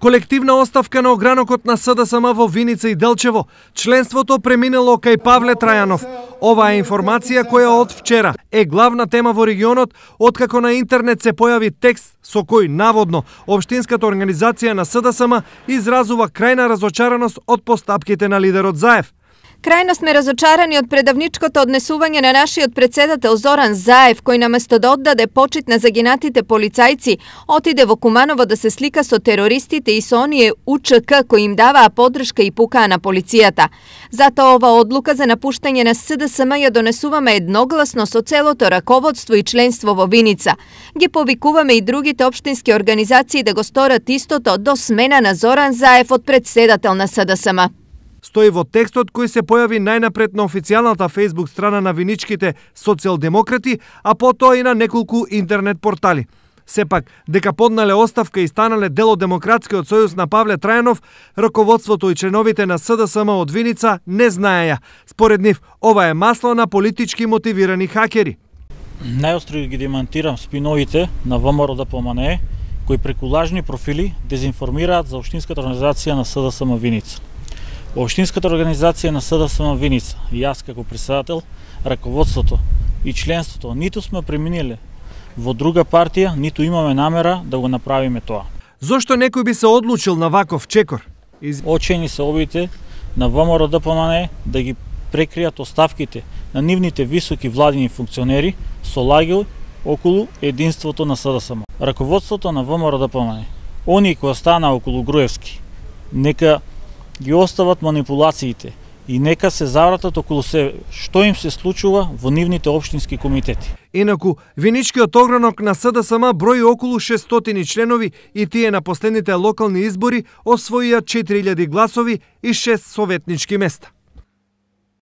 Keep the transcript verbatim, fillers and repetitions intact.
Колективна оставка на огранокот на СДСМ во Виница и Делчево. Членството преминало кај Павле Трајанов. Оваа е информација која од вчера е главна тема во регионот, откако на интернет се појави текст со кој наводно општинската организација на СДСМ изразува крајна разочараност од постапките на лидерот Заев. Крајно сме разочарани од предавничкото однесување на нашиот председател Зоран Заев, кој наместо да оддаде почит на загинатите полицајци, отиде во Куманово да се слика со терористите и со оние У Ч К кои им даваа поддршка и пукаа на полицијата. Затоа ова одлука за напуштање на СДСМ ја донесуваме едногласно со целото раководство и членство во Виница. Ги повикуваме и другите општински организации да го сторат истото до смена на Зоран Заев од председател на СДСМ. Стои во текстот кој се појави најнапред на официјалната Facebook страна на виничките социјалдемократи, а потоа и на неколку интернет портали. Сепак, дека поднале оставка и станале дел од Демократскиот сојуз на Павле Трајанов, раководството и членовите на СДСМ од Виница не знаеја. Според нив, ова е масло на политички мотивирани хакери. Најостро ги демантирам спиновите на ВМРО-ДПМНЕ, кои преку лажни профили дезинформираат за општинската организација на СДСМ Виница. Општинската организација на СДСМ Виница, и јас како председател, раководството и членството ниту сме преминеле во друга партија, ниту имаме намера да го направиме тоа. Зошто некој би се одлучил на ваков чекор? Из... Очени се обидите на ВМРО-ДПМНЕ да ги прекријат оставките на нивните високи владини функционери со лаги околу единството на СДСМ. Раководството на ВМРО-ДПМНЕ, оние кои останаа околу Груевски, нека ги остават манипулациите и нека се завратат околу себе што им се случува во нивните општински комитети. Инаку, виничкиот огранок на СДСМ брои околу шестстотини членови и тие на последните локални избори освоија четири илјади гласови и шест советнички места.